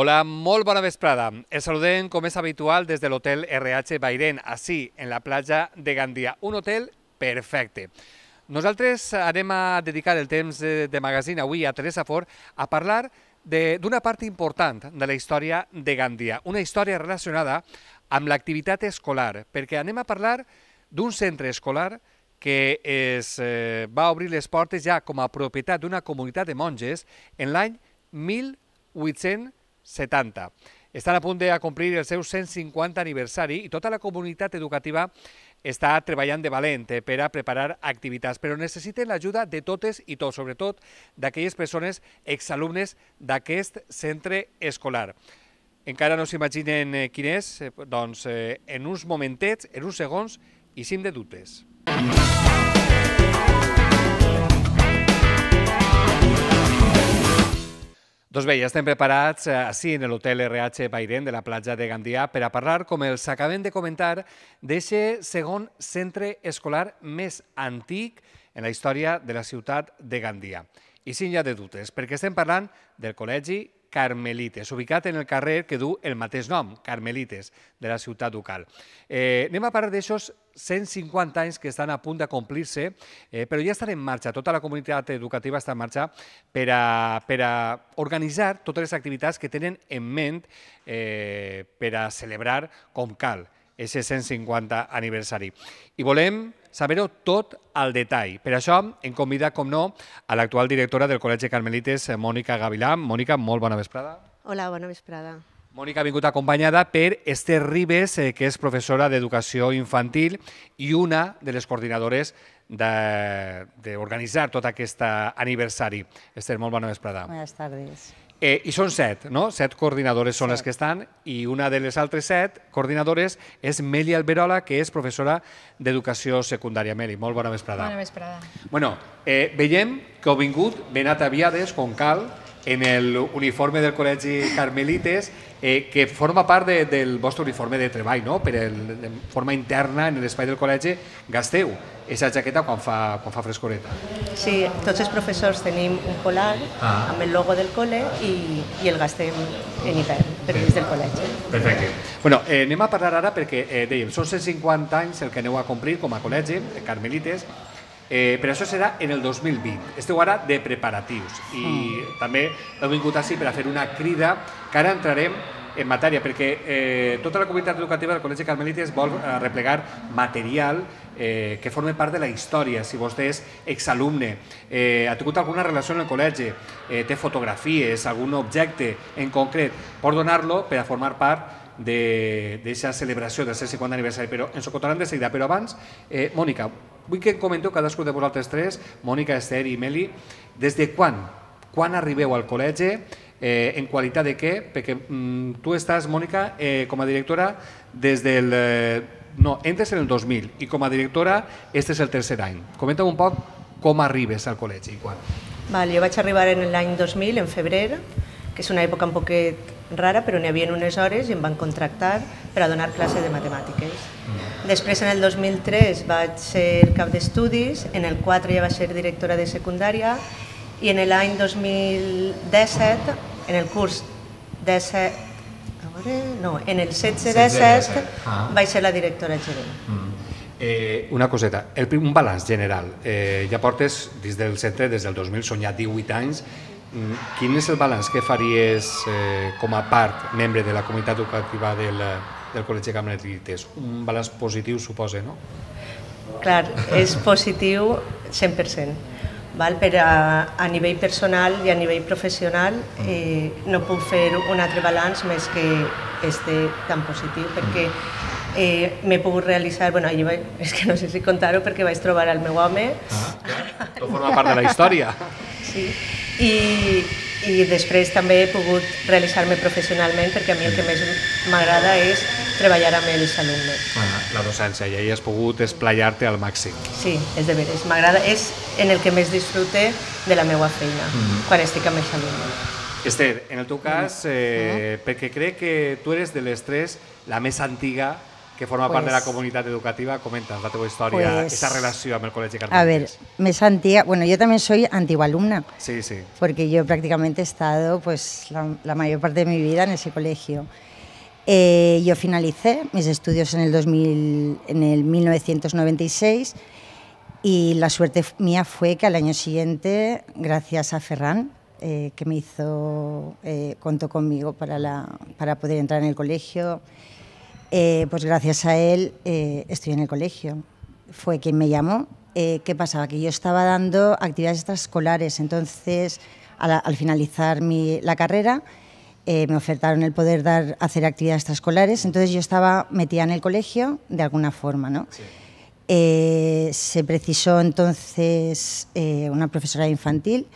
Hola, molt bona vesprada. Els saludem, com és habitual, des de l'hotel RH Bairén, així, en la platja de Gandia. Un hotel perfecte. Nosaltres anem a dedicar el temps de magazine avui a Teresa Fort a parlar d'una part important de la història de Gandia, una història relacionada amb l'activitat escolar, perquè anem a parlar d'un centre escolar que va obrir les portes ja com a propietat d'una comunitat de monges en l'any 1870. Estan a punt de complir el seu 150 aniversari i tota la comunitat educativa està treballant de valent per a preparar activitats, però necessiten l'ajuda de totes i tots, sobretot d'aquelles persones exalumnes d'aquest centre escolar. Encara no s'imaginen quin és? Doncs en uns momentets, en uns segons, i sim de dubtes. Doncs bé, ja estem preparats així en l'hotel RH Bairén de la platja de Gandia per a parlar, com els acabem de comentar, d'aquest segon centre escolar més antic en la història de la ciutat de Gandia. I sí, hi ha de dubtes, perquè estem parlant del Col·legi Carmelites, ubicat en el carrer que du el mateix nom, Carmelites, de la ciutat ducal. Anem a parlar d'aixòs 150 anys que estan a punt de complir-se, però ja estan en marxa, tota la comunitat educativa està en marxa per a organitzar totes les activitats que tenen en ment per a celebrar com cal aquest 150 aniversari. I volem saber-ho tot al detall. Per això hem convidat, com no, a l'actual directora del Col·legi Carmelites, Mònica Gavilà. Mònica, molt bona vesprada. Hola, bona vesprada. Mònica ha vingut acompanyada per Esther Ribes, que és professora d'Educació Infantil i una de les coordinadores d'organitzar tot aquest aniversari. Esther, molt bona vesprada. Buenas tardes. I són 7, no? 7 coordinadores són les que estan, i una de les altres 7 coordinadores és Meli Alberola, que és professora d'Educació Secundària. Meli, molt bona vesprada. Bona vesprada. Bueno, veiem que heu vingut ben ataviades, com cal, en l'uniforme del Col·legi Carmelites, que forma part del vostre uniforme de treball, no? De forma interna, en l'espai del col·legi, gasteu aquesta jaqueta quan fa frescoreta. Sí, tots els professors tenim un polar amb el logo del col·le i el gastem en hivern, però des del col·legi. Perfecte. Bueno, anem a parlar ara perquè, dèiem, són 150 anys el que aneu a complir com a col·legi, Carmelites, però això serà en el 2020. Esteu ara de preparatius i també heu vingut així per a fer una crida que ara entrarem en matèria, perquè tota la comunitat educativa del Col·legi Carmelites vol replegar material que forma part de la història. Si vostè és exalumne, ha tingut alguna relació amb el col·legi, té fotografies, algun objecte en concret, pot donar-lo per a formar part d'aquesta celebració del 150 aniversari, però ens ho contaran de seguida. Però abans, Mònica, vull que comenteu cadascú de vosaltres tres, Mònica, Esther i Meli, des de quan arribeu al col·legi, en qualitat de què? Perquè tu estàs, Mònica, com a directora des del... No, entres en el 2000 i com a directora este és el tercer any. Comenta un poc com arribes al col·legi i quan. Jo vaig arribar en l'any 2000, en febrer, que és una època un poquet rara, però n'hi havia unes hores i em van contractar per a donar classe de matemàtiques. Després, en el 2003, vaig ser cap d'estudis, en el 4 ja vaig ser directora de secundària i en l'any 2017, en el curs 17... No, en el 16-17 vaig ser la directora gerent. Una coseta, un balanç general. Ja portes dins del centre des del 2000, són ja 18 anys. Quin és el balanç que faries com a part, membre de la comunitat educativa del Col·legi Carmelites? Un balanç positiu, suposa, no? Clar, és positiu 100%. Per a nivell personal i a nivell professional no puc fer un altre balanç més que este tan positiu, perquè m'he pogut realitzar, és que no sé si contar-ho perquè vaig trobar el meu home. Tot forma part de la història. Sí, i després també he pogut realitzar-me professionalment, perquè a mi el que més m'agrada és treballar amb els alumnes. La docència, i ahir has pogut esplaiar-te al màxim. Sí, és de veres, m'agrada, és en el que més disfrute de la meva feina, quan estic amb els alumnes. Esther, en el teu cas, perquè crec que tu eres de les tres la més antiga que forma part de la comunitat educativa. Comenta'ns la teva història, aquesta relació amb el Col·legi Carmelites. A ver, més antigua, bueno, yo también soy antigua alumna. Sí, sí. Porque yo prácticamente he estado pues la mayor parte de mi vida en ese colegio. Yo finalicé mis estudios en el 1996 y la suerte mía fue que al año siguiente, gracias a Ferran, que contó conmigo para poder entrar en el colegio, pues gracias a él estoy en el colegio. Fue quien me llamó. ¿Qué pasaba? Que yo estaba dando actividades extraescolares, entonces al finalizar la carrera me ofertaron el poder hacer actividades extraescolares, entonces yo estaba metida en el colegio de alguna forma, ¿no? Sí. Se precisó entonces una profesora infantil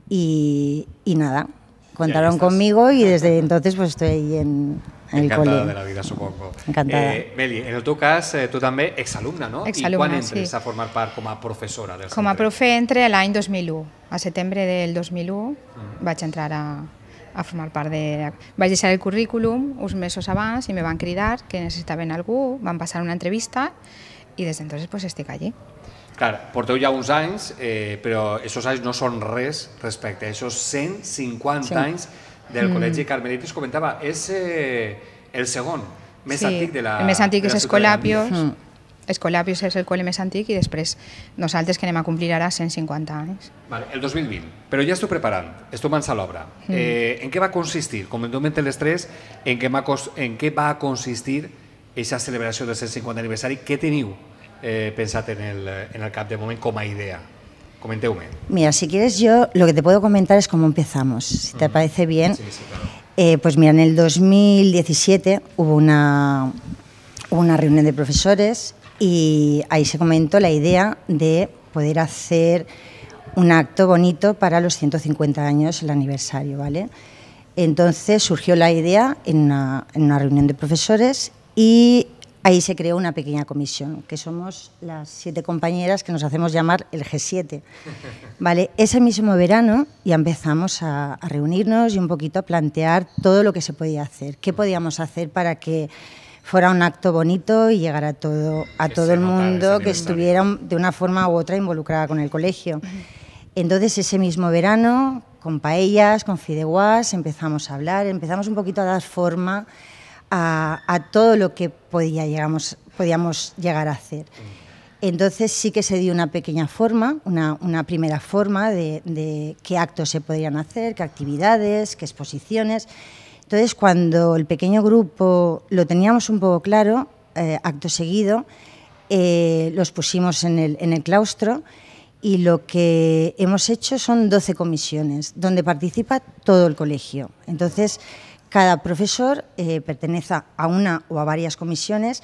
y nada, contaron conmigo y desde entonces pues estoy ahí en el col·le. Encantada de la vida, supongo. Encantada. Meli, en el teu cas, tu també exalumna, no? Exalumna, i quan entres a formar part com a professora del centre? Com a profe entré l'any 2001. A setembre del 2001 vaig entrar a formar part de... Vaig deixar el currículum uns mesos abans i me van cridar que necessitaven algú, van passar una entrevista i des d'entonces pues estic allí. Clar, porteu ja uns anys, però aquests anys no són res respecte a aquests 150 anys del Col·legi Carmelites. Comentava, és el segon més antic de la ciutat. El més antic és Escolapios. Escolapios és el col·le més antic i després nosaltres que anem a complir ara 150 anys. El 2020, però ja esteu preparant, esteu mans a l'obra. En què va consistir? Comenteu-me les tres, en què va consistir aquesta celebració del 150 aniversari. Què teniu pensat en el cap de moment com a idea? Comenteu-me. Mira, si quieres yo lo que te puedo comentar es cómo empezamos, si te parece bien. Sí, claro. Pues mira, en el 2017 hubo una reunión de profesores y ahí se comentó la idea de poder hacer un acto bonito para los 150 años, el aniversario, ¿vale? Entonces surgió la idea en una reunión de profesores y ahí se creó una pequeña comisión, que somos las 7 compañeras que nos hacemos llamar el G7. ¿Vale? Ese mismo verano ya empezamos a reunirnos y un poquito a plantear todo lo que se podía hacer. ¿Qué podíamos hacer para que fuera un acto bonito y llegara a todo el mundo que estuviera de una forma u otra involucrada con el colegio? Entonces ese mismo verano, con paellas, con fideuás, empezamos a hablar, empezamos un poquito a dar forma a todo lo que podíamos llegar a hacer. Entonces sí que se dio una pequeña forma, una primera forma de qué actos se podrían hacer, qué actividades, qué exposiciones. Entonces cuando el pequeño grupo lo teníamos un poco claro, acto seguido, los pusimos en el claustro y lo que hemos hecho son 12 comisiones donde participa todo el colegio. Entonces cada profesor pertenece a una o a varias comisiones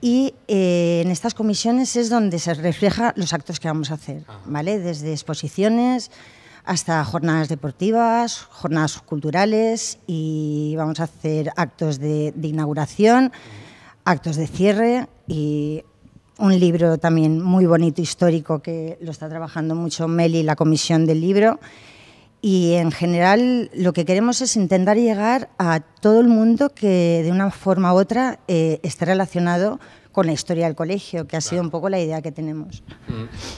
y en estas comisiones es donde se refleja los actos que vamos a hacer, ¿vale? Desde exposiciones hasta jornadas deportivas, jornadas culturales y vamos a hacer actos de inauguración, actos de cierre y un libro también muy bonito, histórico, que lo está trabajando mucho Meli, la comisión del libro. Y en general lo que queremos es intentar llegar a todo el mundo que de una forma u otra esté relacionado con la historia del colegio, que ha sido un poco la idea que tenemos.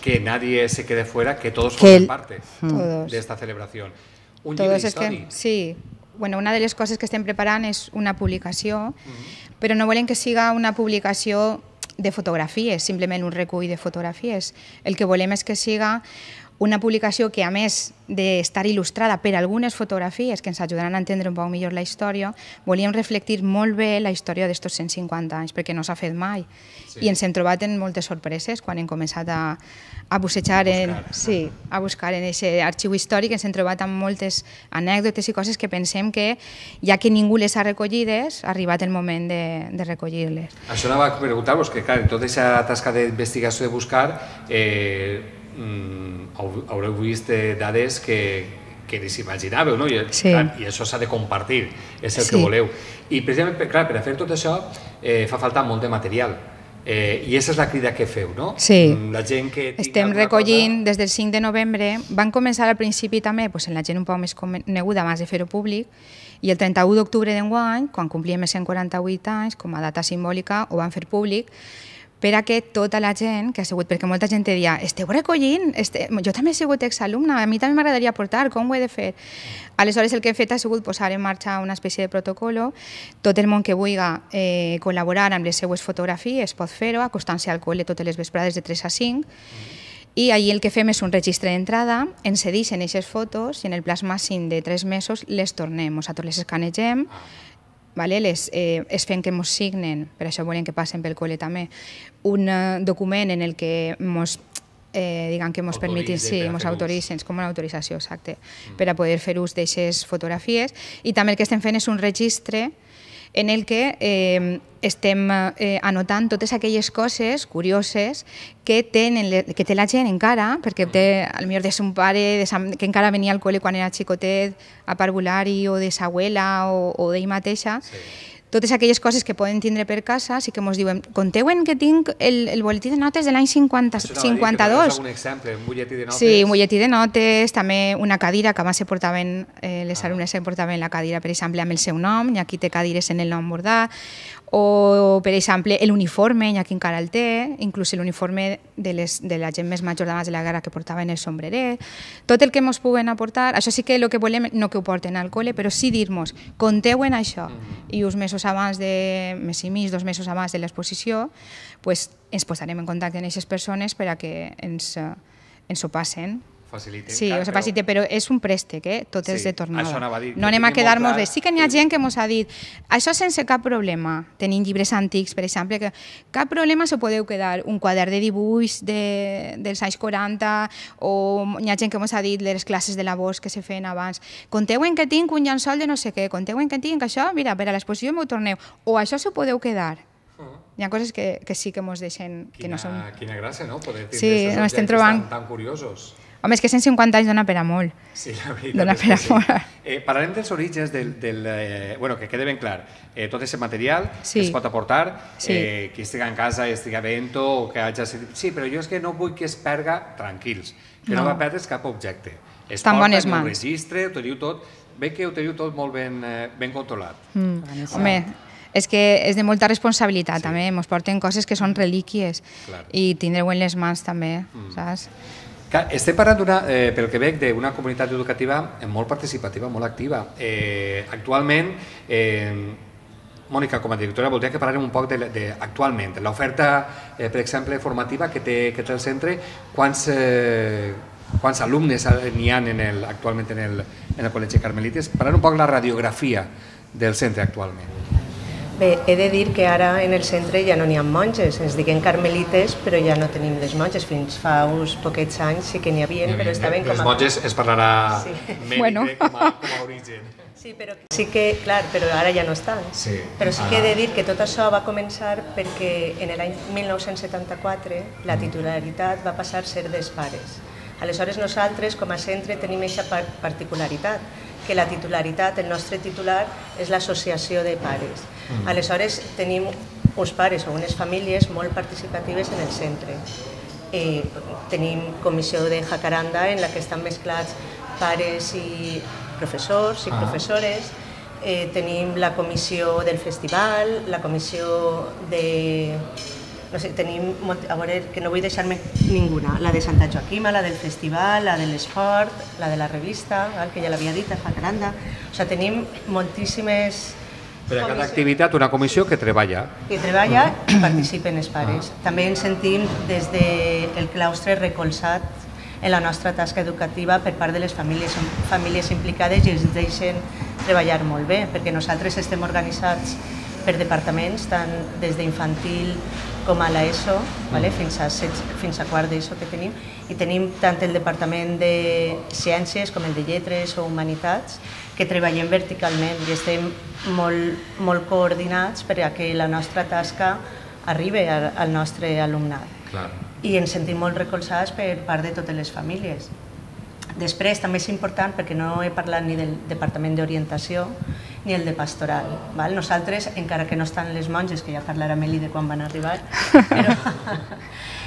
Que nadie se quede fuera, que todos formen parte de esta celebración. Un llibre d'història. Sí, bueno, una de les coses que estem preparant és una publicació, però no volem que siga una publicació de fotografies, simplement un recull de fotografies. El que volem és que siga una publicació que, a més d'estar il·lustrada per algunes fotografies que ens ajudaran a entendre un poc millor la història, volíem reflectir molt bé la història d'estos 150 anys, perquè no s'ha fet mai. I ens hem trobat en moltes sorpreses quan hem començat a buscar en aquest arxiu històric. Ens hem trobat amb moltes anècdotes i coses que pensem que, ja que ningú les ha recollides, ha arribat el moment de recollir-les. Això anava a preguntar-vos, que clar, en tota aquesta tasca d'investigació de buscar, haureu vist dades que ni s'imaginàveu, no? I això s'ha de compartir, és el que voleu. I precisament, clar, per a fer tot això fa falta molt de material. I aquesta és la crida que feu, no? Sí. La gent que estem recollint des del 5 de novembre. Van començar al principi també en la gent un poc més coneguda abans de fer-ho públic, i el 31 d'octubre d'enguany, quan complíem els 148 anys, com a data simbòlica, ho van fer públic, per a que tota la gent que ha sigut, perquè molta gent deia, esteu recollint? Jo també he sigut exalumna, a mi també m'agradaria aportar, com ho he de fer? Aleshores el que he fet ha sigut posar en marxa una espècie de protocolo. Tot el món que vulgui col·laborar amb les seues fotografies pot fer-ho, acostant-se al col·le totes les vesprades de 3 a 5, i allí el que fem és un registre d'entrada, ens cedixen aquestes fotos i en el plaç màxim de 3 mesos les tornem, nosaltres les escanegem, es fem que ens signen, per això volem que passen pel col·le també, un document en el que ens permetin, ens autoritzen, com una autorització, exacte, per a poder fer ús d'aquestes fotografies. I també el que estem fent és un registre en el que estem anotant totes aquelles coses curioses que té la gent encara, perquè potser és un pare que encara venia al col·le quan era xicotet a parvulari o de sa abuela o d'ell mateixa. Totes aquelles coses que poden tindre per casa, sí que ens diuen, conteuen que tinc el boletí de notes de l'any 52. Un exemple, un butlletí de notes. Sí, un butlletí de notes, també una cadira, que abans les alumnes se portaven la cadira, per exemple, amb el seu nom, i aquí té cadires en el nom bordat, o, per exemple, l'uniforme, i aquí encara el té, inclús l'uniforme de la gent més major d'abans de la guerra que portaven el sombreret. Tot el que ens puguen aportar, això sí que el que volem, no que ho porten al col·le, però sí dir-nos, conteuen això, i uns mesos abans mes i mig, 2 mesos abans de l'exposició, ens posarem en contacte amb aquestes persones per a que ens ho passen. Sí, però és un préstec, tot és de tornada. No anem a quedar-nos res. Sí que n'hi ha gent que ens ha dit, això sense cap problema, tenim llibres antics, per exemple, que cap problema s'ho podeu quedar, un quadern de dibuix dels anys 40, o n'hi ha gent que ens ha dit les classes de la Bosch que se feien abans, conteuen que tinc un llençol de no sé què, conteuen que tinc això, mira, per a l'exposició m'ho torneu, o això s'ho podeu quedar. Hi ha coses que sí que ens deixen... Quina gràcia, no? Poder tindre aquests objectes tan curiosos. Home, és que 150 anys dona per a molt. Sí, la veritat és que sí. Parlarem dels orígens que quede ben clar. Tot aquest material que es pot aportar, qui estigui en casa i estigui veient-ho, o que hagi de dir, sí, però jo és que no vull que es perga, tranquils, que no va perdre's cap objecte. Es porta en un registre, ho teniu tot, bé que ho teniu tot molt ben controlat. Home, és que és de molta responsabilitat també, ens porten coses que són relíquies i tindreu en les mans també, saps? Estem parlant, pel que veig, d'una comunitat educativa molt participativa, molt activa. Actualment, Mònica, com a directora, voldria que parlem un poc actualment, l'oferta, per exemple, formativa que té el centre, quants alumnes n'hi ha actualment en el Col·legi Carmelites. Parlar un poc de la radiografia del centre actualment. Bé, he de dir que ara en el centre ja no n'hi ha monges, ens diguem carmelites, però ja no tenim les monges. Fins fa uns poquets anys sí que n'hi havia, però estaven com a... Les monges es parlarà mèdic com a origen. Sí, però sí que, clar, però ara ja no estan. Però sí que he de dir que tot això va començar perquè en l'any 1974 la titularitat va passar a ser dels pares. Aleshores nosaltres com a centre tenim aquesta particularitat, que la titularitat, el nostre titular, és l'associació de pares. Aleshores tenim uns pares o unes famílies molt participatives en el centre. Tenim comissió de jacaranda en la que estan mesclats pares i professors i professores. Tenim la comissió del festival, la comissió de... No sé, tenim, a veure, que no vull deixar-me ninguna, la de Santa Joaquima, la del festival, la de l'esport, la de la revista, que ja l'havia dit, a Jacaranda. O sigui, tenim moltíssimes... Per a cada activitat, una comissió que treballa. Que treballa i participen els pares. També ens sentim des del claustre recolzat en la nostra tasca educativa per part de les famílies implicades i ens deixen treballar molt bé, perquè nosaltres estem organitzats per departaments, tant des d'infantil com a l'ESO, fins a quart d'ESO que tenim, i tenim tant el departament de ciències com el de lletres o humanitats, que treballem verticalment i estem molt coordinats per a que la nostra tasca arribi al nostre alumnat. I ens sentim molt recolzats per part de totes les famílies. Després, també és important, perquè no he parlat ni del Departament d'Orientació, ni el de pastoral. Val? Nosaltres, encara que no estan les monges, que ja parlarà Meli de quan van arribar, però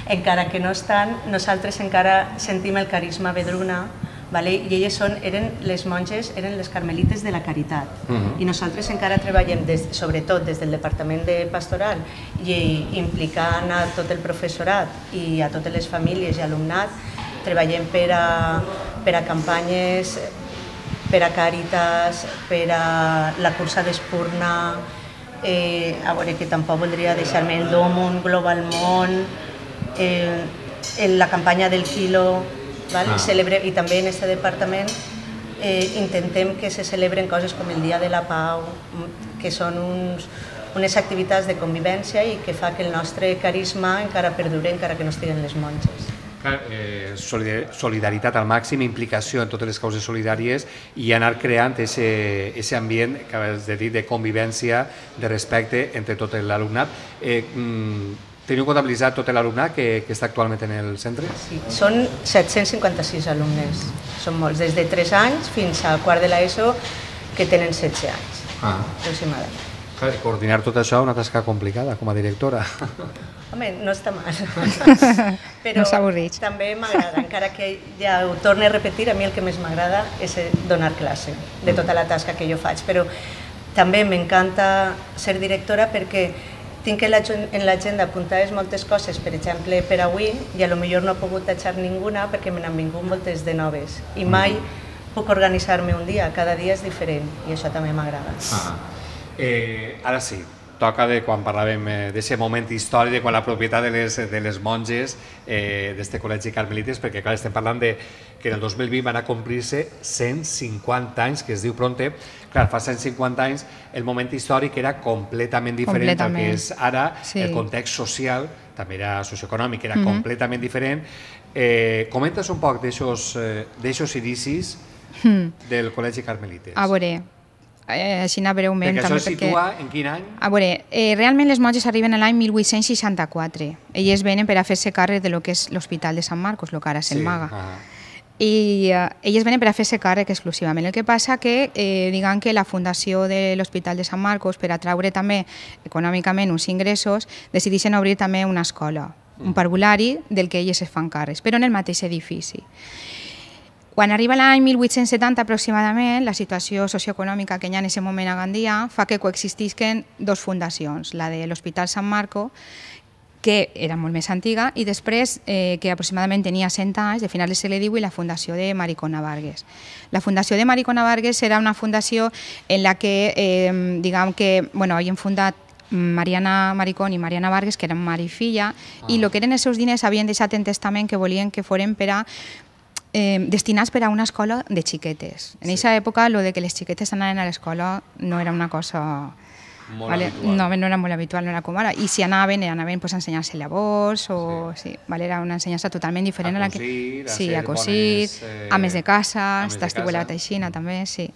encara que no estan, nosaltres encara sentim el carisma Vedruna, vale? I elles eren les monges, eren les carmelites de la caritat. I nosaltres encara treballem, sobretot des del Departament de Pastoral, i implicant a tot el professorat i a totes les famílies i alumnat, treballem per a campanyes, per a Càritas, per a la cursa d'Espurna, a veure que tampoc voldria deixar-me el Domon, Global Món, la campanya del quilo, i també en aquest departament intentem que se celebren coses com el Dia de la Pau, que són unes activitats de convivència i que fa que el nostre carisma encara perdure encara que no estiguen les monges. Solidaritat al màxim, implicació en totes les causes solidàries i anar creant aquest ambient que has de dir de convivència, de respecte entre tot l'alumnat. Teniu comptabilitzat tot l'alumnat que està actualment en el centre? Sí, són 756 alumnes, són molts, des de 3 anys fins a quart de l'ESO, que tenen 16 anys, aproximadament. Coordinar tot això és una tasca complicada com a directora. Home, no està mal, però no s'avorreix. També m'agrada, encara que ja ho torno a repetir, a mi el que més m'agrada és donar classe de tota la tasca que jo faig, però també m'encanta ser directora perquè tinc en l'agenda apuntades moltes coses, per exemple, per avui, i a lo millor no he pogut tachar ninguna perquè me n'han vingut moltes de noves. I mai puc organitzar-me un dia, cada dia és diferent, i això també m'agrada. Ara sí, toca de quan parlàvem d'aquest moment històric, de quan la propietat de les monges d'este col·legi carmelites, perquè clar, estem parlant que en el 2020 van a complir-se 150 anys, que es diu pronte. Clar, fa 150 anys el moment històric era completament diferent del que és ara, el context social, també era socioeconòmic, era completament diferent. Comentes un poc d'aixos inicis del col·legi carmelites. A veure, així breument. Perquè això es situa en quin any? A veure, realment les monges arriben l'any 1864. Elles venen per a fer-se càrrec de lo que és l'Hospital de Sant Marcos, el que ara és el Maga. I elles venen per a fer-se càrrec exclusivament. El que passa que, diguem que la fundació de l'Hospital de Sant Marcos, per atraure també econòmicament uns ingressos, decideixen obrir també una escola, un parvulari del que elles es fan càrrecs, però en el mateix edifici. Quan arriba l'any 1870 aproximadament, la situació socioeconòmica que hi ha en aquest moment a Gandia fa que coexistisquen dues fundacions, la de l'Hospital Sant Marco, que era molt més antiga, i després, que aproximadament tenia 100 anys, de finals del segle XIX, i la fundació de Maricona Vargas. La fundació de Maricona Vargas era una fundació en la que, diguem que, havien fundat Mariana Maricón i Mariana Vargas, que eren mare i filla, i el que eren els seus diners havien deixat en testament que volien que foren per a destinats per a una escola de xiquetes. En aquesta època, lo de que les xiquetes anaven a l'escola no era una cosa... Molt habitual. No era molt habitual, no era com ara. I si anaven a ensenyar-se llavors, era una ensenyança totalment diferent a la que... A cosir, ames de casa, estiuelat així, també, sí.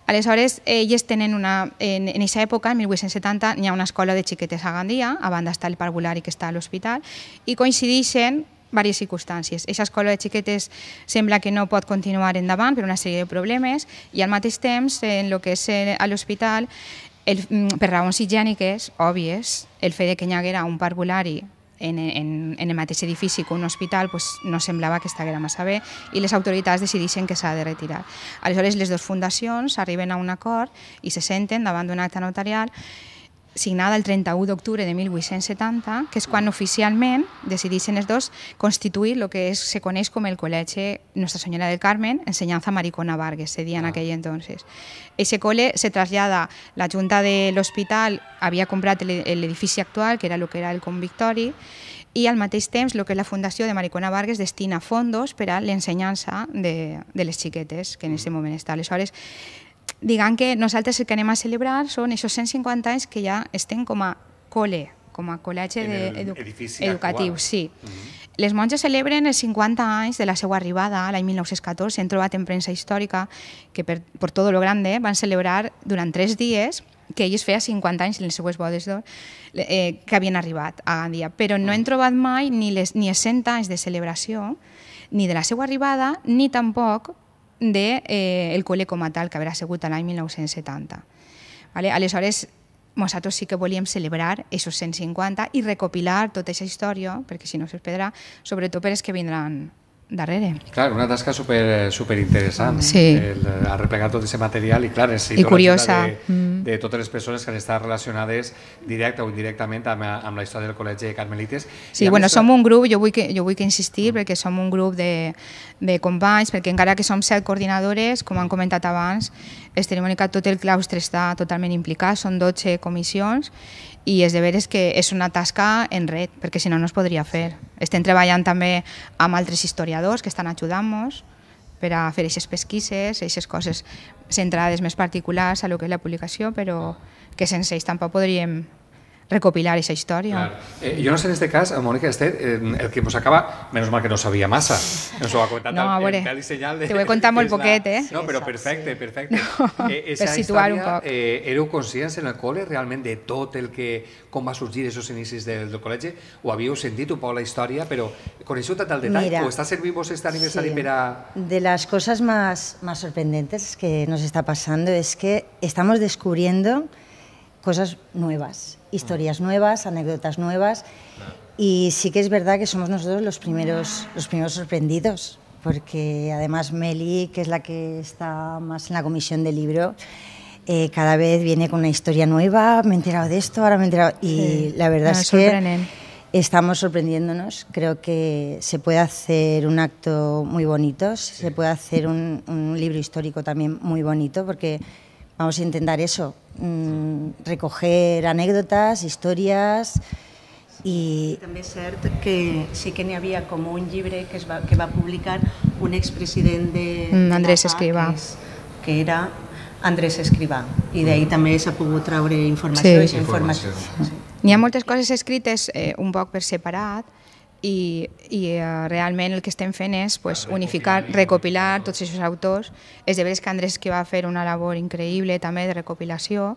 Aleshores, ells tenen en aquesta època, en 1870, hi ha una escola de xiquetes a Gandia, a banda està el parvulari que està a l'hospital, i coincideixen diverses circumstàncies. Aquesta escola de xiquetes sembla que no pot continuar endavant per una sèrie de problemes i al mateix temps, en el que és a l'hospital, per raons higièniques òbvies, el fet que hi haguera un parvulari en el mateix edifici que un hospital no semblava que estiguera massa bé i les autoritats decideixen que s'ha de retirar. Aleshores, les dues fundacions arriben a un acord i se senten davant d'un acte notarial signada el 31 d'octubre de 1870, que és quan oficialment decideixen els dos constituir el que se coneix com el Col·legi Nostra Senyora del Carmen, Ensenyanza Maricona Vargas, se dia en aquell entonces. Ese cole se trasllada, la Junta de l'Hospital havia comprat l'edifici actual, que era el que era el convictori, i al mateix temps el que és la Fundació de Maricona Vargas destina fondos per a l'ensenyança de les xiquetes, que en aquest moment està. Aleshores, diguem que nosaltres el que anem a celebrar són aquests 150 anys que ja estem com a col·le, com a col·legi educatiu. Sí. Les monges celebren els 50 anys de la seva arribada, l'any 1914, hem trobat en premsa històrica que per tot lo grande van celebrar durant 3 dies, que ells feia 50 anys en les seues bodes d'or, que havien arribat a Gandia. Però no hem trobat mai ni els 100 anys de celebració, ni de la seva arribada, ni tampoc del col·le com a tal, que haurà sigut l'any 1970. Aleshores, nosaltres sí que volíem celebrar aquests 150 i recopilar tota aquesta història, perquè si no es perdrà, sobretot per els que vindran darrere. Clar, una tasca super interessant. Sí. Arreplegar tot aquest material i, clar, necessito curiosa. De totes les persones que han estat relacionades directa o indirectament amb la història del Col·legi de Carmelites. Sí, bueno, som un grup, jo vull que insistir, perquè som un grup de companys, perquè encara que som 7 coordinadores, com han comentat abans, tot el claustre està totalment implicat, són 12 comissions, i és de veres que és una tasca en red, perquè si no, no es podria fer. Estem treballant també amb altres historiadors que estan ajudant-nos per a fer aquestes pesquises, aquestes coses centrades més particulars a lo que és la publicació, però que sense ells tampoc podríem recopilar aquesta història. Jo no sé en aquest cas, Mònica Estet, el que ens acaba, menys mal que no sabia massa, ens ho ha comentat el pèl i senyal. Te ho he contat molt poquet, eh? No, però perfecte. Per situar un poc. Éreu conscients en el col·le realment de tot el que, com va sorgir aquests inicis del col·legi? O havíeu sentit un poc la història, però coneixeu tot el detall? ¿O està servint vos este aniversari per a...? De las cosas más sorprendentes que nos está pasando es que estamos descubriendo cosas nuevas, historias nuevas, anécdotas nuevas, y sí que es verdad que somos nosotros los primeros sorprendidos, porque además Meli, que es la que está más en la comisión del libro, cada vez viene con una historia nueva, me he enterado de esto, ahora me he enterado, y la verdad es que estamos sorprendiéndonos. Creo que se puede hacer un acto muy bonito, se puede hacer un libro histórico también muy bonito, porque vamos a intentar eso, recoger anécdotas, històries i... També és cert que sí que n'hi havia com un llibre que va publicar un expresident de Andrés Escrivà, que era Andrés Escrivà, i d'ahir també s'ha pogut treure informació. N'hi ha moltes coses escrites un poc per separat, i realment el que estem fent és unificar, recopilar tots aquests autors. És de veres que Andrés que va fer una labor increïble també de recopilació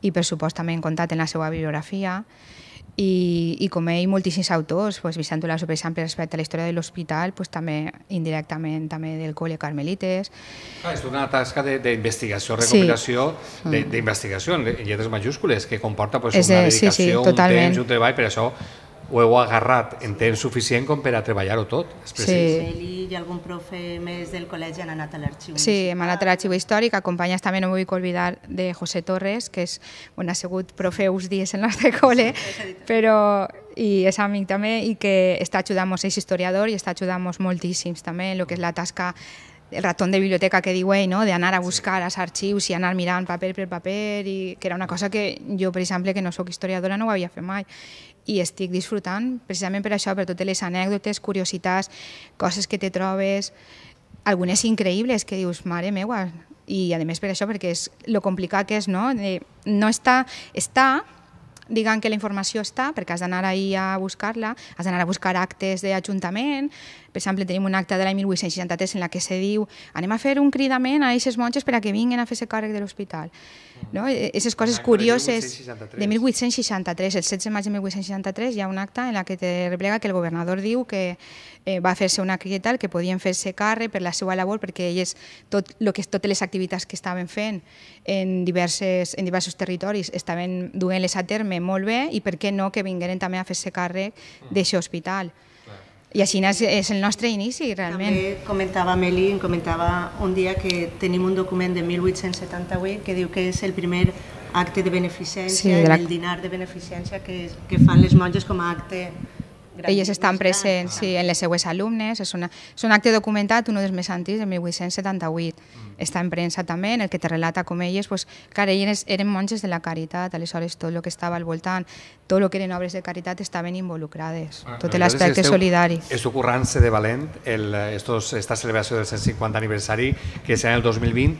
i per supost també en comptat en la seva bibliografia, i com ell moltíssims autors, Vicent Olaso, per exemple, respecte a la història de l'hospital, també indirectament també del Col·le Carmelites. És una tasca d'investigació, recopilació, d'investigació en lletres majúscules, que comporta una dedicació, un temps, un treball, per això ho heu agarrat en temps suficient com per a treballar-ho tot. Sí. I algun profe més del col·legi han anat a l'arxiu. Sí, hem anat a l'arxiu històric, acompanyats també, no vull oblidar, de José Torres, que ha sigut profe uns dies en el nostre col·le, i és amic també, i que està ajudant-nos, és historiador, i està ajudant-nos moltíssims també en el que és la tasca, el ratón de biblioteca que diu ell, d'anar a buscar als arxius i anar mirant paper per paper, i que era una cosa que jo, per exemple, que no soc historiadora, no ho havia fet mai. I estic disfrutant precisament per això, per totes les anècdotes, curiositats, coses que te trobes, algunes increïbles que dius, mare meua, i a més per això, perquè és lo complicat que és, no? No està, diguem que la informació està, perquè has d'anar ahir a buscar-la, has d'anar a buscar actes d'Ajuntament. Per exemple, tenim un acte de l'any 1863 en la que se diu anem a fer un cridament a aquestes monges per a que vinguin a fer-se càrrec de l'hospital. Aquestes coses curioses de 1863, el 16 de maig de 1863 hi ha un acte en què te replega que el governador diu que va fer-se una crida tal, que podien fer-se càrrec per la seva labor, perquè elles, totes les activitats que estaven fent en diversos territoris estaven duent-les a terme molt bé, i per què no que vingueren també a fer-se càrrec d'aquest hospital. I així és el nostre inici, realment. També comentava Meli, em comentava un dia que tenim un document de 1878 que diu que és el primer acte de beneficència, el dinar de beneficència que fan les monges com a acte. Elles estan presents en les seues alumnes, és un acte documentat, un dels més antics, de 1878. Està en premsa també, en el que te relata com elles, elles eren monges de la caritat, aleshores tot el que estava al voltant, tot el que eren obres de caritat estaven involucrades, tot l'aspecte solidari. Esteu currant-se de valent esta celebració del 150 aniversari, que serà el 2020.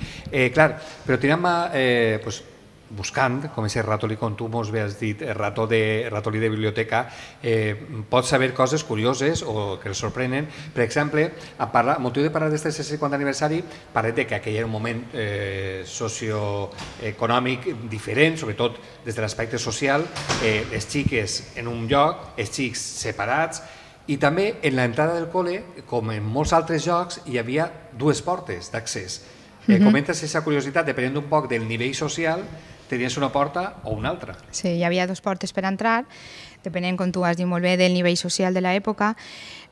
Clar, però tirant buscant, com aquest ratolí, com tu mos has dit, ratolí de biblioteca, pots saber coses curioses o que els sorprenen. Per exemple, a motiu de parlar d'aquest 150 aniversari, parlem que aquell era un moment socioeconòmic diferent, sobretot des de l'aspecte social, les xiques en un lloc, els xics separats, i també en l'entrada del col·le, com en molts altres llocs, hi havia dues portes d'accés. Comentes aquesta curiositat, depenent un poc del nivell social, tenies una porta o una altra. Sí, hi havia dues portes per entrar, depenent, com tu has dit molt bé, del nivell social de l'època.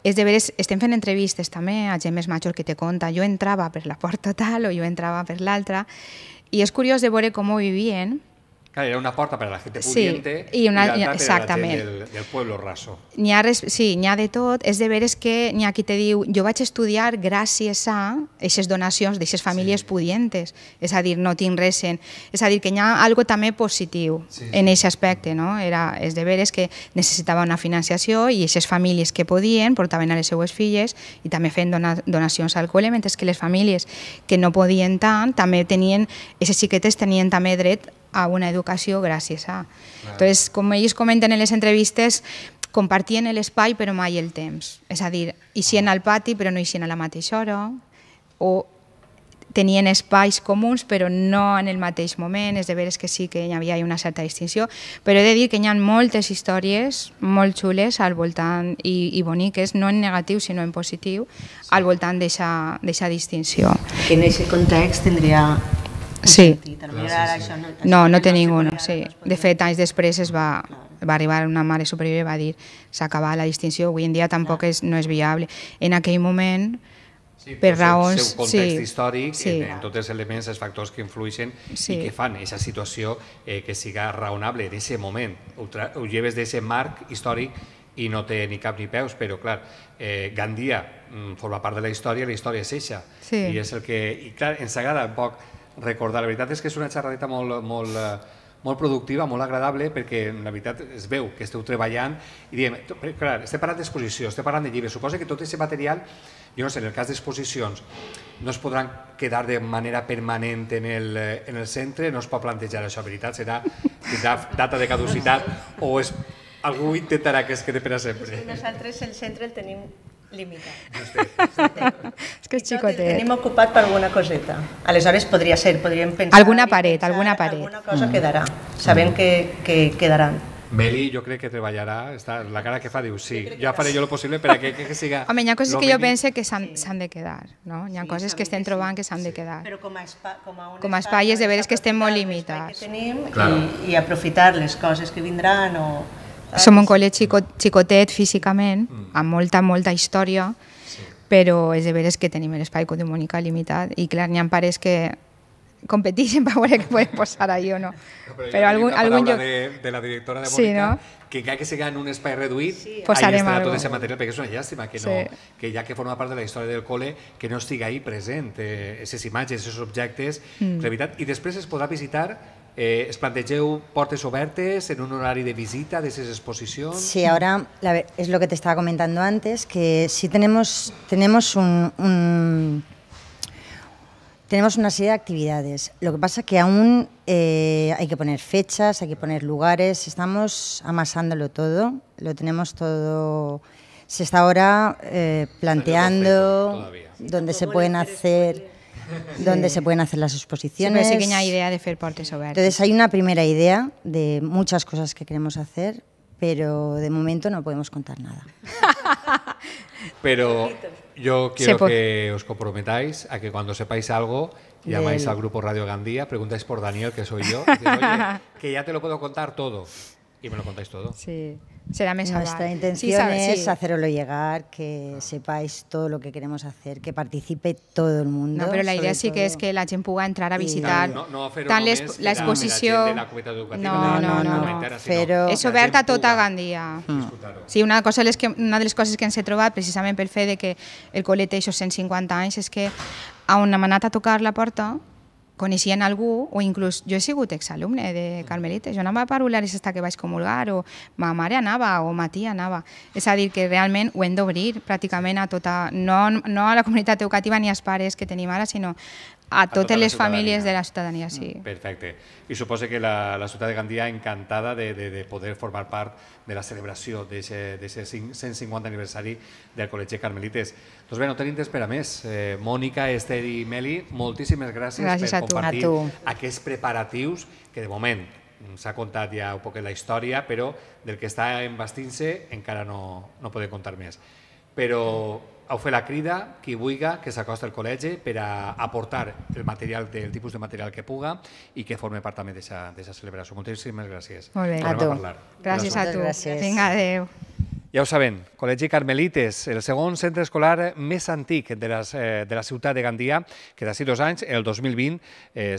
És de veres, estem fent entrevistes també a gent més major que te conta, jo entrava per la porta tal o jo entrava per l'altra, i és curiós de veure com ho vivien. Claro, era una porta para la gente pudiente y una, l'altra exactament. per la gent del pueblo raso. N'hi ha, sí, n'hi ha de tot. És de veres que n'hi ha qui te diu jo vaig estudiar gràcies a aquestes donacions d'aquestes famílies pudientes. És a dir, no tinc res en... És a dir, que n'hi ha algo també positiu en aquest aspecte, no? És de veres que necessitava una financiació i aquestes famílies que podien portaven a les seues filles i també feien donacions al col·le, mentre que les famílies que no podien tant, també tenien, aquestes xiquetes tenien també dret a una educació gràcies a. Entonces, com ells comenten en les entrevistes, compartien l'espai però mai el temps. És a dir, eixien al pati però no eixien a la mateixa hora, o tenien espais comuns però no en el mateix moment. És de veres que sí que hi havia una certa distinció, però he de dir que hi ha moltes històries molt xules al voltant i boniques, no en negatiu sinó en positiu, al voltant d'aquesta distinció. Que en aquest context tindria... Sí. No, no té ningú. Sí. De fet, anys després va arribar una mare superior i va dir s'acaba la distinció, avui en dia tampoc no és viable. En aquell moment, per raons... El seu context històric, en tots els elements, els factors que influeixen i que fan aquesta situació que siga raonable en aquest moment. Ho lleves d'aquest marc històric i no té ni cap ni peus, però clar, Gandia forma part de la història és eixa. I és el que... I clar, ens agrada un poc recordar. La veritat és que és una xerradeta molt productiva, molt agradable, perquè la veritat es veu que esteu treballant i diem, clar, estem parlant d'exposició, estem parlant de llibres, suposa que tot aquest material, jo no sé, en el cas d'exposicions, no es podran quedar de manera permanent en el centre, no es pot plantejar això, veritat, serà data de caducitat o algú intentarà que es quede per a sempre. Nosaltres el centre el tenim limitat. És que és xicotet. Tenim ocupat per alguna coseta. Aleshores podríem pensar... Alguna paret. Alguna cosa quedarà. Sabem que quedaran. Meli, jo crec que treballarà, la cara que fa diu sí, ja faré jo el possible per que siga... Home, hi ha coses que jo pense que s'han de quedar, no? Hi ha coses que estem trobant que s'han de quedar. Però com a espai és de veres que estem molt limitats. I aprofitar les coses que vindran o... Som un col·le xicotet físicament, amb molta història, però és de veres que tenim l'espai codimònica limitat i clar, n'hi ha pares que competeixen per veure què poden posar ahí o no. Però algun lloc... de la directora de Mònica, que encara que siga en un espai reduït, posarem estarà tot aquest material, perquè és una llàstima que ja que forma part de la història del col·le, que no estigui ahí present, aquestes imatges, aquests objectes, i després es podrà visitar. ¿Es plantegeu portes obertes en un horario de visita de esas exposiciones? Sí, ahora es lo que te estaba comentando antes, que sí tenemos una serie de actividades. Lo que pasa que aún hay que poner fechas, hay que poner lugares, estamos amasándolo todo, lo tenemos todo, se está ahora planteando dónde se pueden hacer... donde se pueden hacer las exposiciones. Sí, pero sí que hay idea de hacer portes obertes. Entonces hay una primera idea de muchas cosas que queremos hacer, pero de momento no podemos contar nada. Pero yo quiero que os comprometáis a que cuando sepáis algo, llamáis al grupo Radio Gandía, preguntáis por Daniel, que soy yo, y decís, oye, que ya te lo puedo contar todo. Y me lo contáis todo. Sí, será més Nuestra intención es haceroslo llegar, que sepáis todo lo que queremos hacer, que participe todo el mundo. No, però la idea sí que és que la gent pugui entrar a visitar tant l'exposició... Però és oberta a tota Gandia. Sí, una de les coses que ens he trobat, precisament pel fet de que el col·le té 150 anys, és que on hem anat a tocar la porta coneixien algú, o inclús jo he sigut exalumne de Carmelites, jo anava a parlar hasta que vaig comulgar, o ma mare anava, o ma tia anava. És a dir, que realment ho hem d'obrir pràcticament a tota, no a la comunitat educativa ni als pares que tenim ara, sinó a totes les famílies de la ciutadania, sí. Perfecte. I suposo que la ciutat de Gandia encantada de poder formar part de la celebració d'aquest 150 aniversari del Col·legi Carmelites. Doncs bé, no tenim temps per a més. Mònica, Esther i Meli, moltíssimes gràcies per compartir aquests preparatius que de moment s'ha contat ja un poc la història, però del que està embastint-se encara no podem contar més. Però heu fet la crida, qui vulgui que s'acosta al col·legi per a aportar el material, del tipus de material que puga i que forme part també d'aquesta celebració. Moltíssimes gràcies. Molt bé. Tornem A tu. parlar. Gràcies a tu. Gràcies. Vinga, adéu. Ja ho saben, Col·legi Carmelites, el segon centre escolar més antic de la ciutat de Gandia, que d'ací 2 anys, el 2020,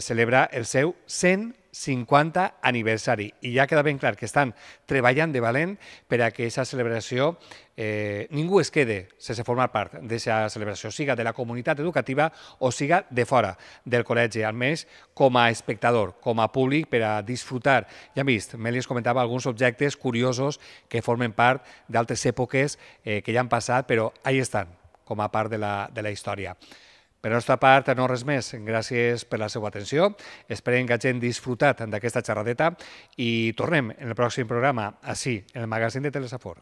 celebra el seu 150 aniversari. I ja queda ben clar que estan treballant de valent per a que aquesta celebració ningú es quede sense formar part d'aquesta celebració, siga de la comunitat educativa o siga de fora del col·legi, almenys com a espectador, com a públic, per a disfrutar. Ja hem vist, Meli es comentava alguns objectes curiosos que formen part d'altres èpoques que ja han passat, però ahí estan, com a part de la història. Per la nostra part, no res més. Gràcies per la seva atenció. Esperem que hagin disfrutat d'aquesta xerradeta i tornem en el pròxim programa, així, en el magazín de Telesafor.